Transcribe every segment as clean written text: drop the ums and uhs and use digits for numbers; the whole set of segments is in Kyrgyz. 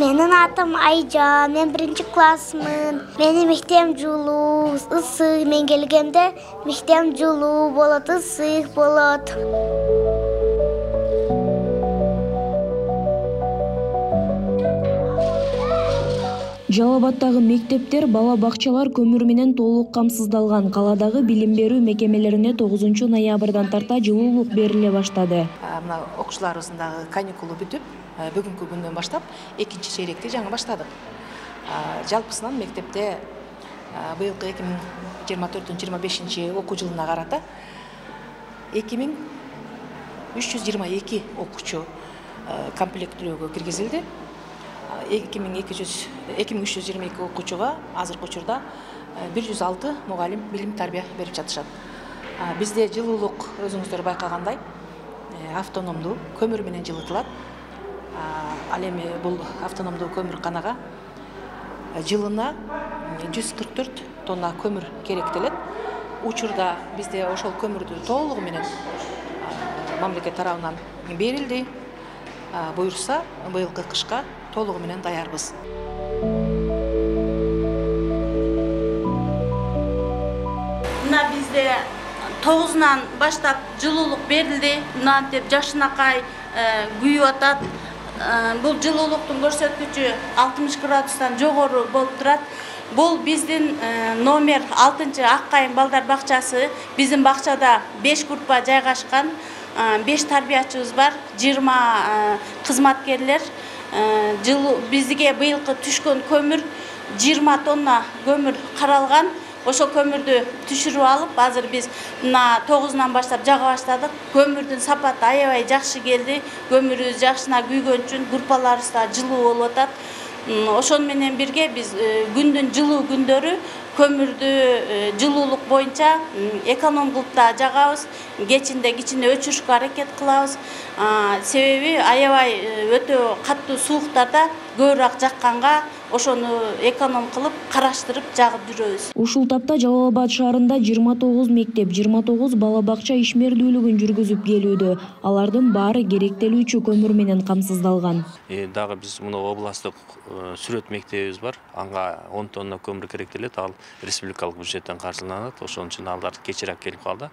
Менин атым Айжан, мен 1-классмын. Менин мектебим жылуу, ысык. Мен келгенде мектебим жылуу болот, ысык болот. Жалал Абаддагы мектептер, бала бакчалар көмүр менен толук камсыздалган. Каладагы билим берүү мекемелерине 9 ноябрдан тарта жылуулук бериле баштады. Мына окуучуларыбыздын дагы каникулу бүтүп, бүгүнкү күндөн баштап 2-чи чейректи жаңы баштадык. Жалпысынан мектепте быйылкы 2024-25 окуу жылына карата 2322 окуучу комплектөөгө киргизилди. 2322 окуучуга азыркы учурда 106 мугалим билим тарбия берип жатышат. Бизде жылуулук өзүңүздөр байкагандай автономдуу көмүр менен жылытылат. Ал эми бул автономдуу көмүрканага жылына 144 тонна көмүр керектелет. Учурда бизде ошол көмүрдү толугу менен мамлекет тарабынан берилди. Буюрса, быйылкы кышка толугу менен даярбыз. Мына бизде 9-нан баштап жылуулук берилди. Мына деп жашынакай күйүп атат. Бул жылуулуктун көрсөткүчү 60 градустан жогору болуп турат. Бул биздин номер 6-чы Аккайын балдар бакчасы. Биздин бакчада 5 группа жайгашкан. 5 тарбиячыбыз бар, 20 кызматкерлер. Бизге быйылкы түшкөн көмүр 20 тонна көмүр каралган. Ошол көмүрдү түшүрүп алып, азыр биз мына 9-нан баштап жага баштадык. Көмүрдүн сапаты аябай жакшы келди. Көмүрүбүз жакшына күйгөн үчүн группаларыбыз да жылуу болуп атат. Ошон менен бирге биз күндүн жылуу күндөрү көмүрдү жылуулук боюнча эконом кылып да жагабыз. Кечинде кичине өчүрүшкө аракет кылабыз. Себеби аябай өтө каттуу сууктарда көбүрөөк жакканга ошону эконом кылып, караштырып жагып жүрөбүз. Ушул тапта Жалал Абад шаарында 29 мектеп, 29 бала бакча ишмердүүлүгүн жүргүзүп келүүдө. Алардын баары керектелүүчү көмүр менен камсыздалган. Дагы биз мына областтык сүрөт мектебибиз бар. Анга 10 тонна көмүр керектелет. Ал республикалык бюджеттен каржыланат. Ошон үчүн алар кечирээк келип калды.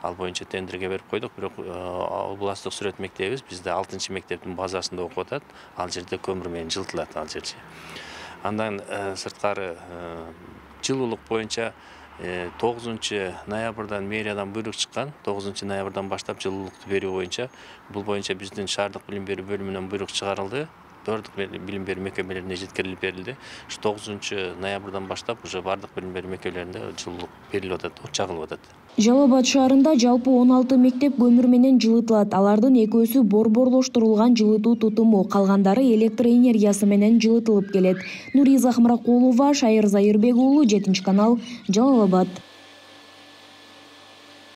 Ал боюнча тендерге берип койдук. Бирок областтык сүрөт мектебибиз бизде 6-чы мектептин базасында окуп атат. Ал жерде көмүр менен жылытылат ал жерче. Андан сырткары жылуулук боюнча 9 ноябрдан мэриядан буйрук чыккан. 9 ноябрдан баштап жылуулукту берүү боюнча бул боюнча биздин шаардык билим берүү бөлүмүнөн буйрук чыгарылды. Бардык билим берүү мекемелерине жеткирилип берилди. 9 ноябрдан баштап уже бардык билим берүү мекемелеринде жылуулук берилип атат, чагылып атат. Жалал Абад шаарында жалпы 16 мектеп көмүр менен жылытылат. Алардын 2-сү борборлоштурулган жылытуу тутуму, калгандары электр энергиясы менен жылытылып келет. Нуриза Ахмаракулова, Шайыр Зайырбек уулу, 7 канал, Жалал Абад.